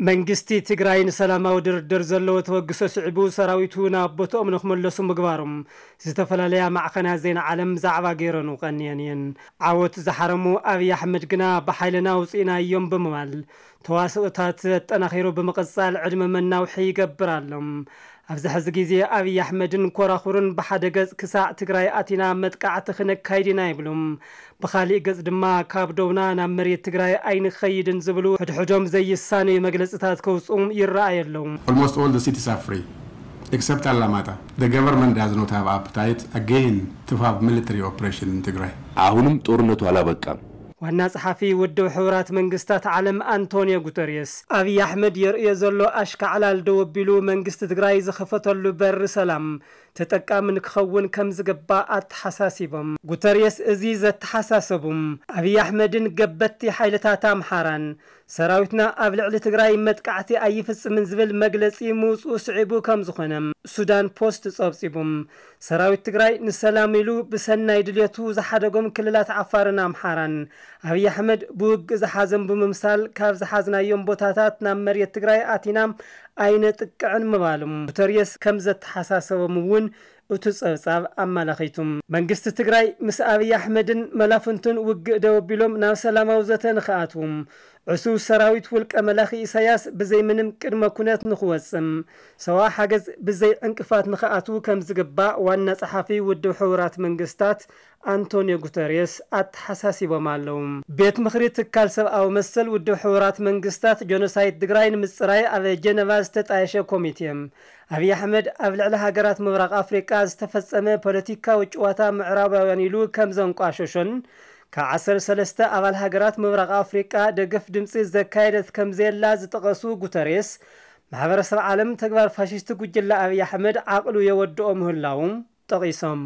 መንግስቲ ትግራይ ንሰላማዊ ድርድር ዘለዎ ተበግሶ ስዒቡ ሰራዊቱ ናብ ቦትኦም ንክመለሱ ምግባሮም ዝተፈላለያ ማዕኸናት ዜና ዓለም ዛዕባ ገይረን ቀንየን እየን። ዓወት ዝሓረሙ ኣብይ ኣሕመድ ግና ብሓይልና ኣውፂእናዮም ብምባል ተዋስኦታት ኣጠናኺሩ ብምቕፃል ዕድመ መናውሒ ይገብር ኣሎ። ኣብዚ ሕዚ ግዜ ኣብይ ኣሕመድን ኮራኹርን ብሓደ ገጽ ክሳዕ ትግራይ ኣቲና መጥቃዕቲ ክነካይድ ኢና ይብሉ። ብኻሊእ ገጽ ድማ ካብ ዶብና ናብ መሬት ትግራይ ኣይንኸይድን ዝብሉ ሕድሕዶም ዘይሳነዩ መግለጽታት ከውጽኡ ይረኣዩ ኣለዉ። Almost all the cities are free, except Alamata. The government does not have appetite again to have military operation in Tigray. አሁንም ጦርነቱ አላበቃም። ዋና ጸሓፊ ውድብ ሕቡራት መንግስታት ዓለም ኣንቶንዮ ጉተርየስ ኣብይ ኣሕመድ የርእዮ ዘሎ ኣሽካዕላል ደው ኣቢሉ መንግስቲ ትግራይ ዝኸፈተሉ በሪ ሰላም ተጠቃሚ ንክኸውን ከም ዝግባእ ኣተሓሳሲቦም። ጉተርየስ እዚ ዘተሓሳሰቡም ኣብይ ኣሕመድን ገበቲ ሓይልታት ኣምሓራን ሰራዊትና ኣብ ልዕሊ ትግራይ መጥቃዕቲ ኣይፍጽምን ዝብል መግለጺ ምውፅኡ ስዒቡ ከም ዝኾነ ሱዳን ፖስት ጸብጺቡም። ሰራዊት ትግራይ ንሰላም ኢሉ ብሰናይ ድልየቱ ዝሓደጎም ክልላት ዓፋርን ኣምሓራን ኣብይ ኣሕመድ ብውግእ ዝሓዘም ብምምሳል ካብ ዝሓዝናዮም ቦታታት ናብ መሬት ትግራይ ኣቲና ኣይነጥቅዕን ምባሎም ጉተርየስ ከም ዘተሓሳሰቦም እውን እቲ ጸብጻብ ኣመላኺቱ። መንግስቲ ትግራይ ምስ ኣብይ ኣሕመድን መላፍንቱን ውግእ ደው ኣቢሎም ናብ ሰላማዊ ዘተ ንክኣትዉ ዕሱብ ሰራዊት ውልቀ መላኺ ኢሳያስ ብዘይ ምንም ቅድመ ኩነት ንክወጽም ሰብኣዊ ሓገዝ ብዘይ ዕንቅፋት ንክኣትዉ ከም ዝግባእ ዋና ጸሓፊ ውድብ ሕቡራት መንግስታት ኣንቶንዮ ጉተርየስ ኣተሓሳሲቦም ኣለዉ። ቤት ምኽሪ ትካል ሰብኣዊ መሰል ውድብ ሕቡራት መንግስታት ጀኖሳይድ ትግራይ ንምጽራይ ኣብ ጀነቫ ዝተጣየሸ ኮሚቴ ኣብይ ኣሕመድ ኣብ ልዕሊ ሃገራት ምብራቕ ኣፍሪቃ ዝተፈጸመ ፖለቲካዊ ጭዋታ ምዕራባውያን ኢሉ ከም ዘንቋሸሾን ካብ ዓሰርተ ሰለስተ ኣባል ሃገራት ምብራቕ ኣፍሪቃ ደገፍ ድምፂ ዘካየደት ከም ዘየላ ዝጠቐሱ ጉተሬስ ማሕበረሰብ ዓለም ተግባር ፋሽስቲ ጉጅለ ኣብይ ኣሕመድ ዓቕሉ የወድኦ ምህላዉ ጠቒሶም።